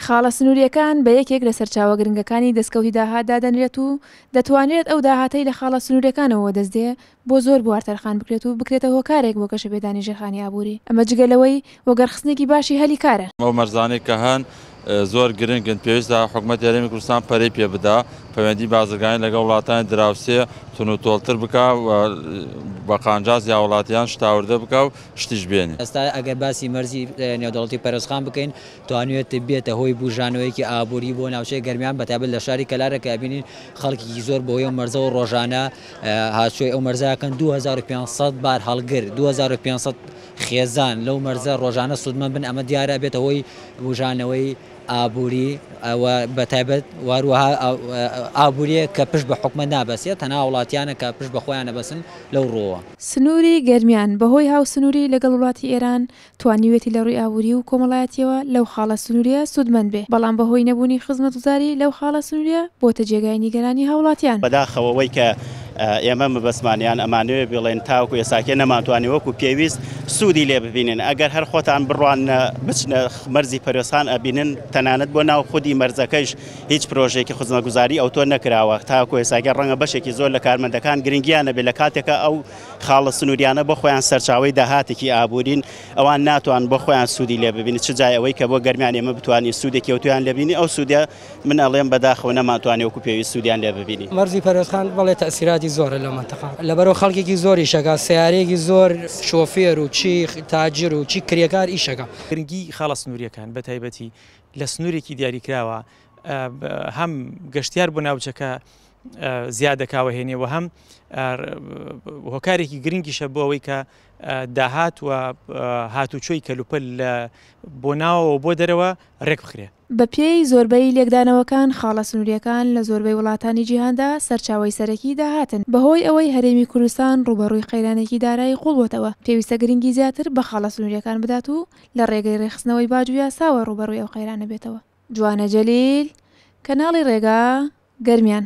خاڵە سنوورییەکان بە یەکێک لە سەرچاوە گرنگەکانی دەستکەوتی داهات دادەنرێت و دەتوانرێت ئەو داهاتەی لە خاڵە سنوورییەکانەوە وەدەست دێ بۆ زۆر بوار تەرخان بکرێت و بکرێتە هۆکارێک بۆ گەشەپێدانی ژێرخانی ئابووری، ئەمە جگە لەوەی وەگەڕخستنێکی باشی هەلی کارە. ئەو مەرزانەی کە هەن زۆر گرنگن، پێویستە حکومەتی هەرێمی کوردستان پەرەی پێ بدا، پەیوەندی بازرگانی لەگەڵ وڵاتانی دراوسێ توندوتۆڵتر بکا و بە قانجازی هاوڵاتیان شتاوردە بکا و شتیش بێنێ. ئێستا ئەگەر باسی مەرزی نێودەوڵەتی پەرێزخان بکەین، توانیویەتی بێتە هۆی بوژانەوەیەکی ئابووری بۆ ناوچەی گەرمیان بەتایبەت لە شاری کەلارە کە ئەبینین خەڵکێکی زۆر بەهۆی ئەو مەرزەوە ڕۆژانە هاتوچۆی ئەو مەرزە ئەکەن 2500 بار هەڵگر 2500 خێزان لەو مەرزە ڕۆژانە سوودمەند بن ئەمە دیارە ئەبێتە هۆی بوژانەوەی ئابووری و بەتایبەت واروەها ئابووریە کە پشت بە حکومەت نابەستێت تەنها وڵاتیانە کە پشت بە خۆیان ئەبەستن لەو ڕووەوە. سنووری گەرمیان بەهۆی هاوسنووری لەگەڵ وڵاتی ئێران توانیویەتی لە ڕووی ئابووری و کۆمەڵایەتییەوە لەو خاڵە سنوورییە سوودمەند بێ، بەڵام بەهۆی نەبوونی خزمەتگوزاری لەو خاڵە سنوورییە بۆتە جێگای نیگەرانی هاوڵاتیان. بەداخەوە وەی کە ئێمە مەبەستمان یان ئەمانەوێ بڵێن تاوەکو ئێساکێ نەمانتوانی وەکو پێویست سوودی لێ ببینن ئەگەر هەر خۆتان بڕواننە بچنە مەرزی پەروێزخان ئەبینن تەنانەت بۆ ناو خودی مەرزەکەیش هیچ پرۆژەیەکی خزمەتگوزاری ئەوتۆ نەکراوە تاوەکو ئێساکێ ڕەنگە بەشێکی زۆر لە کارمەندەکان گرنگیان نەبێت لە کاتێکا ئەو خاڵە سنووریانە بۆ خۆیان سەرچاوەی داهاتێکی ئابوورین، ئەوان ناتوان بۆ خۆیان سوودی لێ ببینن، چ جای ئەوەی کە بۆ گەرمیان ئێمە بتوانین سوودێکی ئەوتۆیان لێ ببینین، ئەو سوودە من ئەڵێم بەداخەوە نەمانتوانی وەکو پێویست سوودیان لێ ببینین. مەرزی پەروێزخان بەڵێ تەئسیراتی زۆرە لەو مەنتەقە لەبەرئەوە خەڵکێکی زۆر ئیشەکا سەیارەیەکی زۆر شۆفێر و چی تاجر و چی کرێکار ئیشەکا. گرنگی خاڵە سنوورییەکان بەتایبەتی لە سنوورێکی دیاریکراوە هەم گەشتیار بۆ ناوچەکە زیاد دەکا و هێنێ و هەم هۆکارێکی گرنگیشە بۆ ئەوەی کە داهات و هاتوچۆی کەلوپەل لە بۆ ناوەوە بۆ دەرەوە ڕێک بخرێ. بەپێی زۆربەی لێکدانەوەکان خاڵە سنوورییەکان لە زۆربەی وڵاتانی جیهاندا سەرچاوەی سەرەکی داهاتن، بەهۆی ئەوەی هەرێمی کوردستان ڕووبەڕووی قەیرانێکی دارایی قووڵ بۆتەوە، پێویستە گرنگی زیاتر بە خاڵە سنوورییەکان بدات و لە ڕێگەی ڕێکخستنەوەی باج و یاساوە ڕووبەڕووی ئەو قەیرانە بێتەوە. جوانە جەلیل، کەناڵی ڕێگا، گەرمیان.